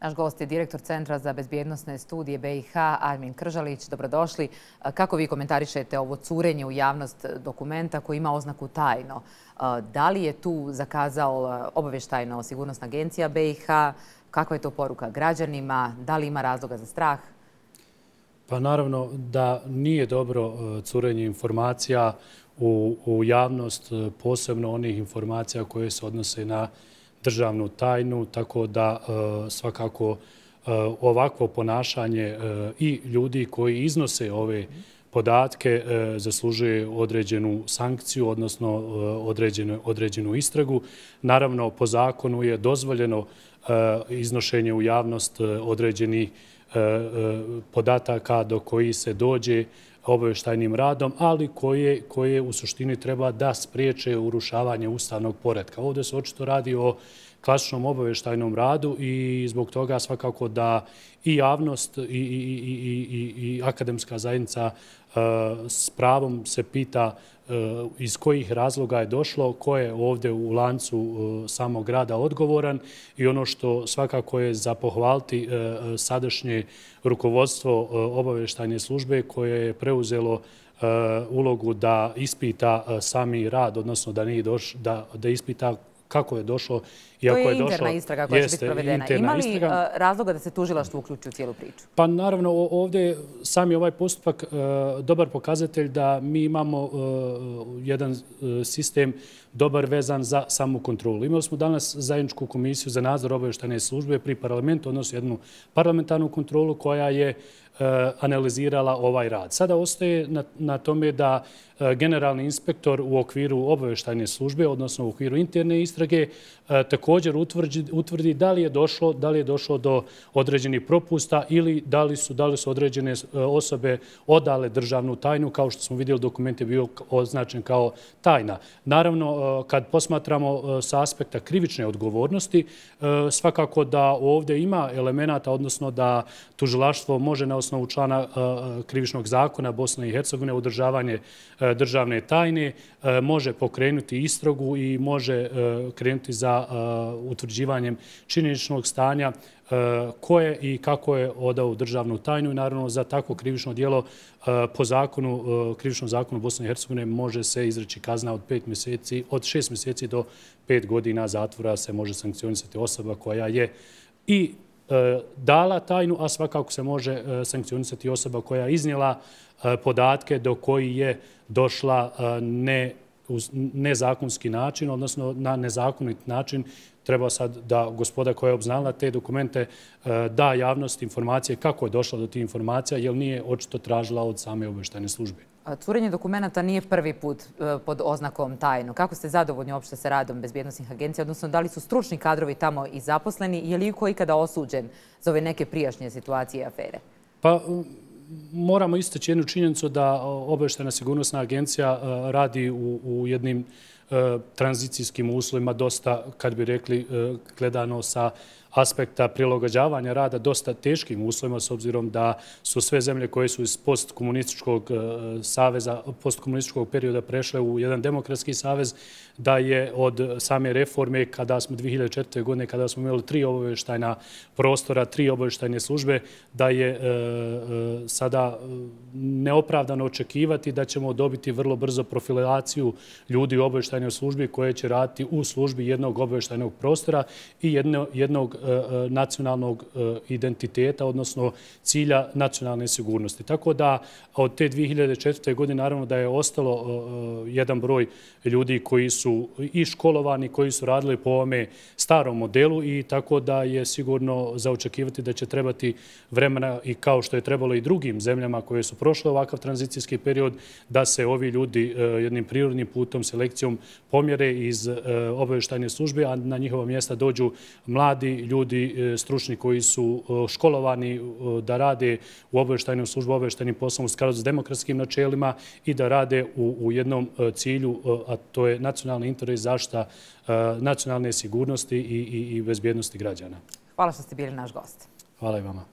Naš gost je direktor Centra za bezbjednosne studije BiH, Armin Kržalić. Dobrodošli. Kako vi komentarišete ovo curenje u javnost dokumenta koji ima oznaku tajno? Da li je tu zakazao obavještajno-sigurnosna agencija BiH? Kakva je to poruka građanima? Da li ima razloga za strah? Pa naravno da nije dobro curenje informacija u javnost, posebno onih informacija koje se odnose na državnu tajnu, tako da svakako ovakvo ponašanje i ljudi koji iznose ove podatke zaslužuje određenu sankciju, odnosno određenu istragu. Naravno, po zakonu je dozvoljeno iznošenje u javnost određenih podataka do koji se dođe obavještajnim radom, ali koje u suštini treba da spriječe urušavanje ustavnog poretka. Ovdje se očito radi o klasičnom obavještajnom radu i zbog toga svakako da i javnost i akademska zajednica s pravom se pita iz kojih razloga je došlo, ko je ovdje u lancu samog rada odgovoran i ono što svakako je za pohvaliti sadašnje rukovodstvo obavještajne službe koje je preuzelo ulogu da ispita sami rad, odnosno da ispita kako je došlo. To je interna istraga koja će biti provedena. Ima li razloga da se tužilaštvo uključi u cijelu priču? Pa naravno, ovdje sami ovaj postupak dobar pokazatelj da mi imamo jedan sistem dobar vezan za samu kontrolu. Imali smo danas zajedničku komisiju za nadzor obavještajne službe pri parlamentu, odnosno jednu parlamentarnu kontrolu koja je analizirala ovaj rad. Sada ostaje na tome da generalni inspektor u okviru obavještajne službe, odnosno u okviru interne istrage, također utvrdi da li je došlo do određenih propusta ili da li su određene osobe odale državnu tajnu, kao što smo vidjeli, dokument je bio označen kao tajna. Naravno, kad posmatramo sa aspekta krivične odgovornosti, svakako da ovdje ima elemenata, odnosno da tužilaštvo može na osnovu člana krivičnog zakona Bosne i Hercegovine održavanje državne tajne, može pokrenuti istragu i može krenuti za utvrđivanjem činjeničnog stanja ko je i kako je odao državnu tajnu i naravno za takvo krivično djelo po krivičnom zakonu Bosne i Hercegovine može se izreći kazna od 6 mjeseci do 5 godina zatvora se može sankcionisati osoba koja je i dala tajnu, a svakako se može sankcionisati osoba koja je iznijela podatke do koji je došla nezakonski način, odnosno na nezakonit način. Treba sad da gospoda koja je obznala te dokumente da javnost informacije kako je došla do tih informacija, jer nije očito tražila od same obavještajne službe. Curenje dokumenta nije prvi put pod oznakom tajno. Kako ste zadovoljni uopšte sa radom bezbjednosnih agencija, odnosno da li su stručni kadrovi tamo i zaposleni, je li iko ikada osuđen za ove neke prijašnje situacije i afere? Pa moramo istaći jednu činjenicu da obavještajna sigurnosna agencija radi u jednim tranzicijskim uslovima, dosta, kad bi rekli, gledano sa aspekta prilagođavanja rada dosta teškim uslovima, s obzirom da su sve zemlje koje su iz postkomunističkog saveza, postkomunističkog perioda prešle u jedan demokratski savez, da je od same reforme, kada smo 2004. godine, kada smo imali 3 obavještajna prostora, 3 obavještajne službe, da je sada neopravdano očekivati da ćemo dobiti vrlo brzo profilaciju ljudi u obavještajnoj službi koje će raditi u službi jednog obavještajnog prostora i jednog nacionalnog identiteta, odnosno cilja nacionalne sigurnosti. Tako da od te 2004. godine naravno da je ostalo jedan broj ljudi koji su i školovani, koji su radili po ovome starom modelu i tako da je sigurno za očekivati da će trebati vremena i kao što je trebalo i drugim zemljama koje su prošle ovakav tranzicijski period, da se ovi ljudi jednim prirodnim putom, selekcijom pomjere iz obavještajne službe, a na njihova mjesta dođu mladi ljudi stručni koji su školovani da rade u obavještajnom službu, obavještajnim poslom u skladu s demokratskim načelima i da rade u jednom cilju, a to je nacionalni interes, zaštita nacionalne sigurnosti i bezbjednosti građana. Hvala što ste bili naš gost. Hvala i vama.